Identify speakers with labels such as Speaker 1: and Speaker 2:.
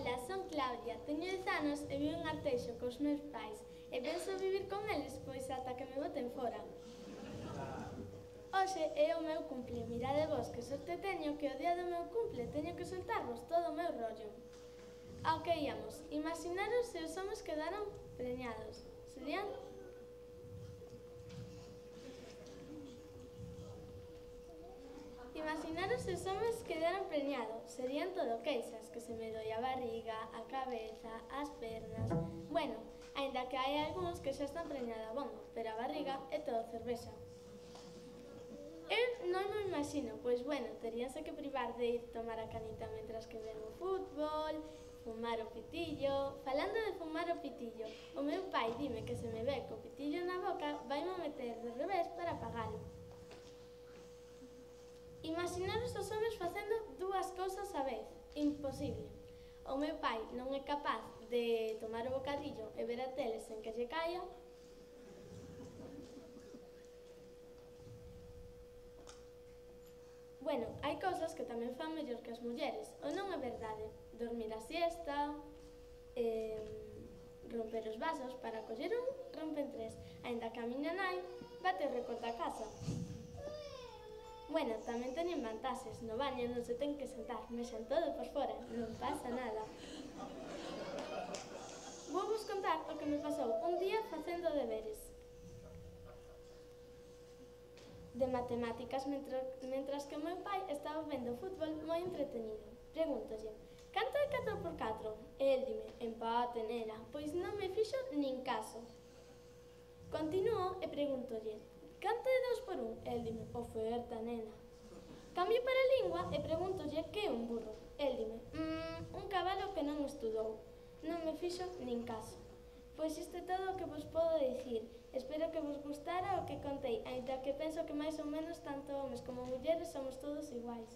Speaker 1: Ola, son Claudia, teño 10 anos e vivo en Arteixo cos meus pais e penso vivir con eles pois ata que me boten fora. Hoxe é o meu cumple, mirade vos que sorte teño que o día do meu cumple teño que soltarvos todo o meu rollo. Ao que íamos, imaginaros se os homes quedaran preñados. Serían... Imaginaros se os homes quedaran preñados. Serían todo queixas, que se me doi a barriga, a cabeza, as pernas... Bueno, aínda que hai algúns que xa están preñados a bombo, pero a barriga é todo cervexa. Eu non me imagino, pois bueno, teríanse que privar de ir tomar a canita mentras que ven o fútbol, fumar o pitillo... Falando de fumar o pitillo, o meu pai dime que se me ve co pitillo na boca vaime meter de revés para apagalo. Imaginaros os homes facendo dúas cousas á vez. Imposible. O meu pai non é capaz de tomar o bocadillo e ver a tele sen que lle caia. Bueno, hai cousas que tamén fan mellor que as mulleres, ou non é verdade? Dormir a siesta, romper os vasos, para coller un, rompen tres, aínda que a miña nai bate o récord da casa. Bueno, tamén teñen vantaxes, no baño non se ten que sentar, mexan todo por fora, non pasa nada. Vou vos contar o que me pasou un día facendo deberes de matemáticas mentras que o meu pai estaba vendo fútbol moi entretenido. Pregúntolle, canto é 4 por 4? E el dime, empate, nena, pois non me fixo nin caso. Continuo e pregúntolle, canto é 2 por 1? E el dime, oferta, nena. Cambio para a lingua e pregúntolle que é un burro. El dime, un cabalo que non estudou. Non me fixo nin caso. Pois isto é todo o que vos podo dicir. Espero que vos gustara o que contei, aínda que penso que máis ou menos tanto homes como mulleres somos todos iguais.